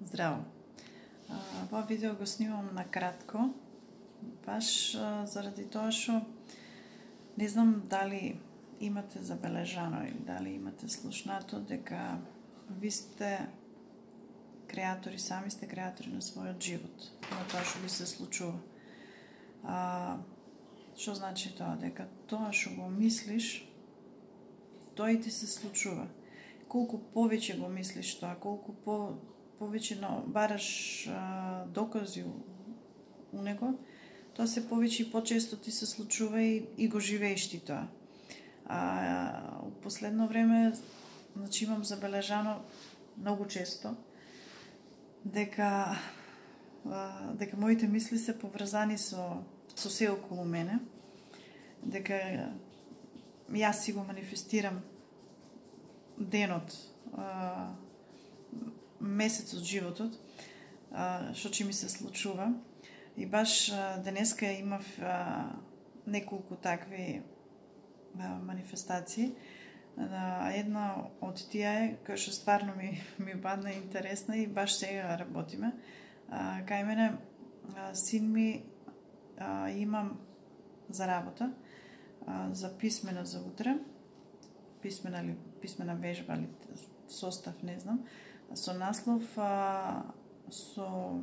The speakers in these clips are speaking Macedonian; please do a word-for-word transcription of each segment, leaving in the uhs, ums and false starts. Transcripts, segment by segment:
Здраво! Ова видео го снимам на кратко, баш заради тоа што не знам дали имате забележано или дали имате слушнато дека ви сте креатори, сами сте креатори на својот живот, на тоа што ви се случува. А, што значи тоа? Дека тоа што го мислиш, тоа и ти се случува. Колку повеќе го мислиш тоа, колку по повеќе но, бараш а, докази у, у него, тоа се повеќе и почесто ти се случува и, и го живееш ти тоа. А, у последно време, значи имам забележано многу често дека а, дека моите мисли се поврзани со со се околу мене, дека јас си го манифестирам денот, а, месецот, животот, што ќе ми се случува. И баш а, денеска имав а, неколку такви а, манифестации. А, една од тие е, која што стварно ми, ми падна интересна и баш сега работиме. А, кај мене а, син ми а, имам за работа, а, за писмена за утре, писмена или писмена вежба или состав, не знам, со наслов а, со,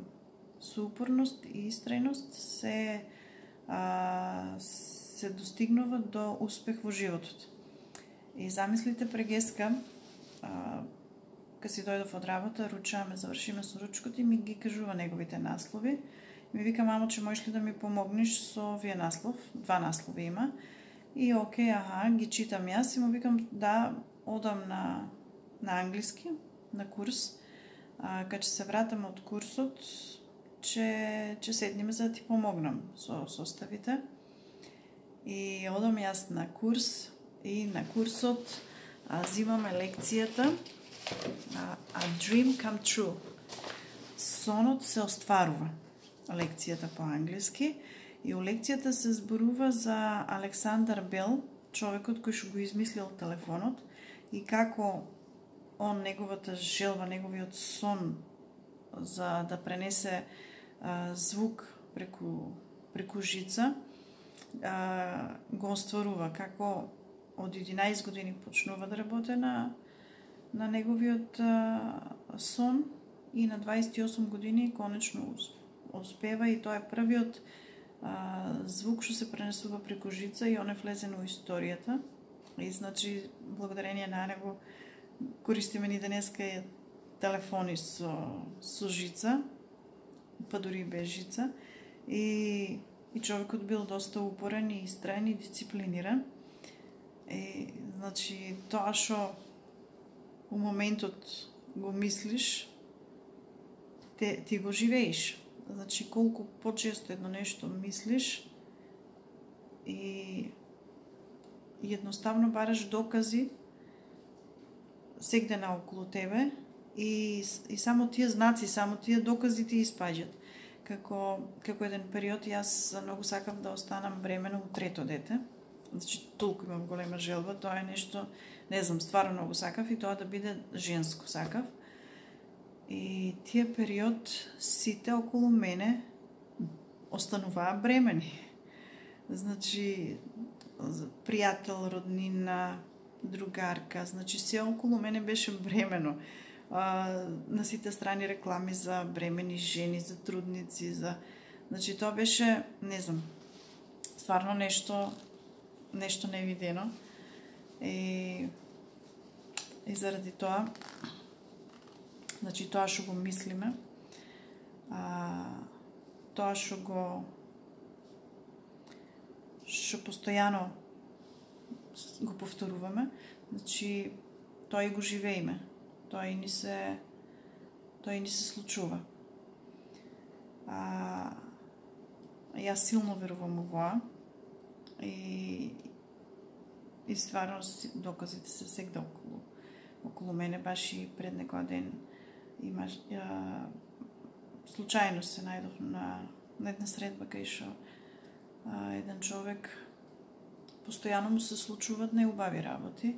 со упорност и истрајност се а, се достигнува до успех во животот. И замислите прегеска, а, кога си дојдов од работа, ручаме, завршиме со ручкото и ми ги кажува неговите наслови. И ми вика: мамо, че можеш ли да ми помогнеш со овие наслов? Два наслови има. И окей, аха, ги читам јас и му викам: да, одам на, на англиски, на курс. А, кога ќе се вратам од курсот, че, че седниме за да ти помогнам со составите. И одам јас на курс и на курсот а, зимаме лекцијата а, A Dream Come True. Сонот се остварува. Лекцијата по англиски. И у лекцијата се зборува за Александар Бел, човекот кој што го измислил телефонот, и како он, неговата желба, неговиот сон за да пренесе а, звук преку, преку жица, а, го остварува, како од единаесет години почнува да работи на, на неговиот а, сон и на дваесет и осум години конечно успева, и тоа е првиот а, звук што се пренесува преку жица и он е влезен во историјата. И значи благодарение на него користиме ни денеска и телефони со, со жица, па дури и без жица. И, и човекот бил доста упорен и истраен и дисциплиниран. И, значи, тоа што у моментот го мислиш, те, ти го живееш. Значи, колку почесто едно нешто мислиш и едноставно бараш докази сегде наоколу тебе и, и само тие знаци, само тие докази ти испаѓат. Како, како еден период јас многу сакав да останам бремена у трето дете. Значи, толку имам голема желба, тоа е нешто, не знам, стварно многу сакав и тоа да биде женско сакав. И тие период сите околу мене остануваа бремени. Значи, пријател, роднина, другарка, значи се околу мене беше бремено. А, на сите страни реклами за бремени жени, за трудници, за... Значи тоа беше, не знам, стварно нешто, нешто невидено. И, и заради тоа, значи тоа што го мислиме, а, тоа што го што постојано го повторуваме, значи тоа и го живееме. Тоа и ни се тоа и ни се случува. А, јас силно верувам во тоа и и стварно доказите се сегде околу околу мене. Баш и пред некој ден имаш а, случајно се најдов на, на една средба кај што а, еден човек постојано му се случуваат неубави работи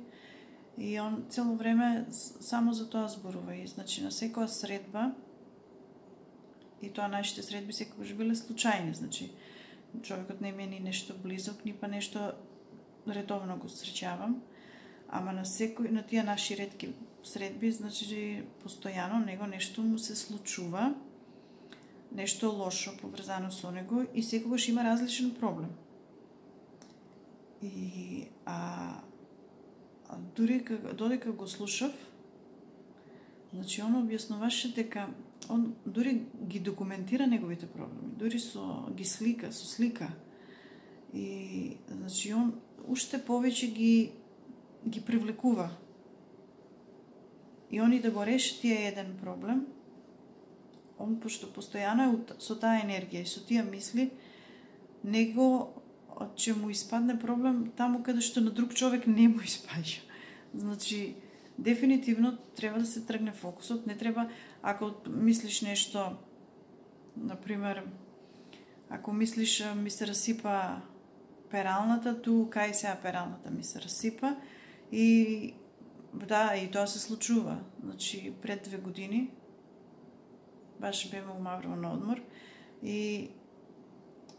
и он цело време само за тоа зборува. И значи на секоја средба И тоа нашите средби секогаш биле случајни, значи човекот не ми е ни нешто близок, ни па нешто редовно го среќавам, ама на секој на тие наши ретки средби, значи постојано него нешто му се случува, нешто лошо поврзано со него и секогаш има различен проблем. И а, а дури додека го слушав, значи он објаснуваше дека он дури ги документира неговите проблеми, дури со ги слика, со слика. И значи он уште повеќе ги ги привлекува. И они да го реши тие еден проблем, он пошто постојано е со таа енергија и со тие мисли, него ќе му испадне проблем таму каде што на друг човек не му испаѓа. Значи, дефинитивно треба да се тргне фокусот, не треба, ако мислиш нешто, например, ако мислиш ми се расипа пералната, ту кај сега пералната ми се расипа и да, и тоа се случува. Значи, пред две години баш беме у Маврово на одмор и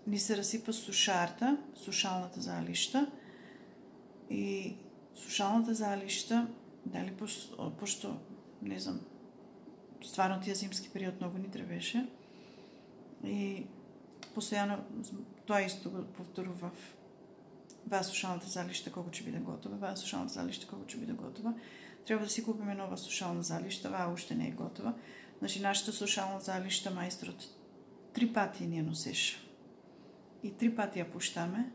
ни се расипа сушарта, сушалната залишта и сушалната залишта, дали пошто, пошто не знам, стварно тие зимски период многу ни требеше и постојано тоа исто го повторував. Ваа сушалната залишта кога ќе биде готова, ваа сушалната залишта кога ќе биде готова. Треба да си купиме нова сушална залишта, ваа уште не е готова. Значи, нашата сушална залишта мајсторот три пати ни ја носеше. И три пати ја пуштаме.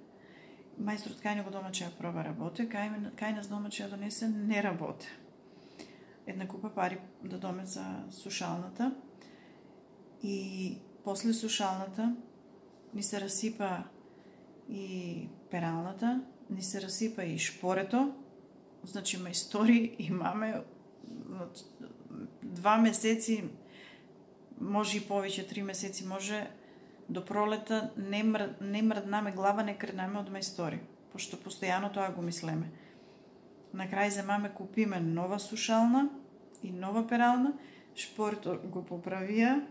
Мајсторот кај него дома ќе ја проба работе, кај, кај нас дома ќе ја донесе не работе. Една купа пари да доме за сушалната. И после сушалната ни се расипа и пералната, ни се расипа и шпорето. Значи, мајстори имаме два месеци, може и повеќе, три месеци, може до пролета не, мр... не мрднаме глава, не кренаме од мајстори, пошто постојано тоа го мислеме. На крај земаме, купиме нова сушална и нова перална, шпорето го поправија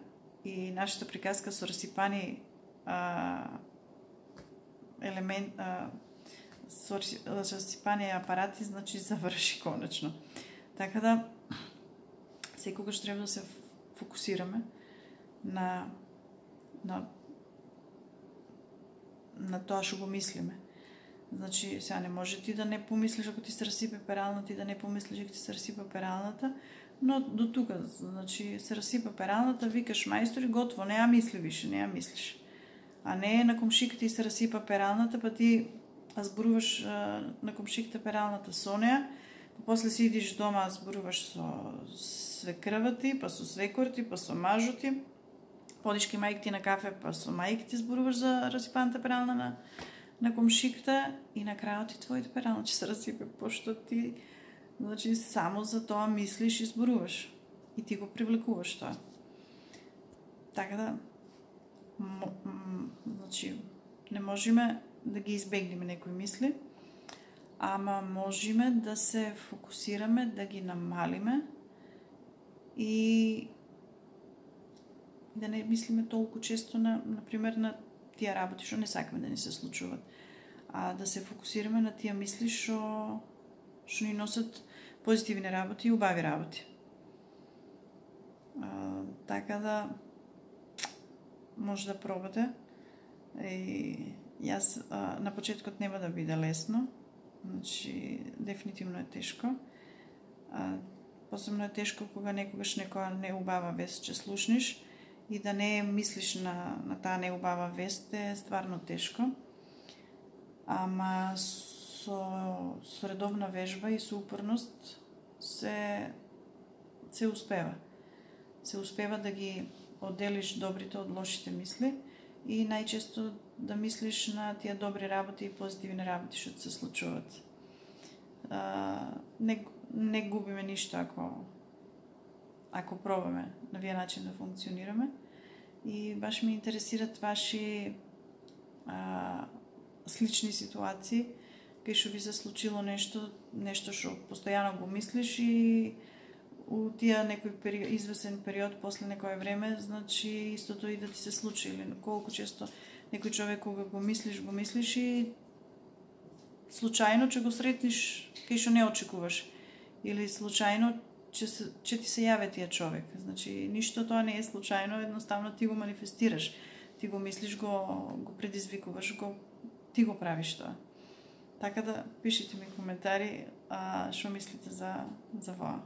и нашата приказка со расипани а, елемент, а, со расипани апарати, значи заврши конечно. Така да, секогаш треба да се фокусираме на, на, на тоа што го мислиме. Значи, сега не може ти да не помислиш ако ти се расипе пералната, ти да не помислиш ако ти се расипа пералната, но до тука, значи, се расипа пералната, викаш мајстори, готово, не ја мисли више, не ја мислиш. А не на комшика ти се расипа пералната, па ти зборуваш на комшиката пералната со неа, па после си идиш дома, зборуваш со свекрва ти, па со свекор ти, па со мажо ти, подиш ки мајка ти на кафе, па со мајка ти зборуваш за расипаната перална на, на комшиката и на крајот ти твоите перална ќе се расипе, пошто ти, значи, само за тоа мислиш и зборуваш. И ти го привлекуваш тоа. Така да, значи, не можеме да ги избегнеме некои мисли, ама можеме да се фокусираме, да ги намалиме и да не мислиме толку често на, например, на тие работи што не сакаме да ни се случуват, а да се фокусираме на тие мисли што што ни носат позитивни работи и убави работи. А, така да може да пробате. И јас а, на почеткот нема да биде лесно, значи дефинитивно е тешко. А, посебно е тешко кога некогаш некоја неубава вест ќе слушнеш и да не мислиш на, на таа неубава вест е стварно тешко. Ама со, со редовна вежба и со упорност се, се успева. Се успева да ги одделиш добрите од лошите мисли и најчесто да мислиш на тие добри работи и позитивни работи што се случуваат. А, не, не губиме ништо ако ако пробаме на вие начин да функционираме. И баш ме интересират ваши а, слични ситуации кај што ви се случило нешто, нешто што постојано го мислиш и у тие некој период, извесен период после некое време, значи истото и да ти се случи. Или колку често некој човек кога го мислиш, го мислиш и случајно че го сретнеш кај што не очекуваш. Или случајно че, се, че ти се јаве тие човек. Значи ништо тоа не е случајно, едноставно ти го манифестираш. Ти го мислиш, го, го предизвикуваш, го, ти го правиш тоа. Така да пишите ми коментари а, што мислите за, за воа.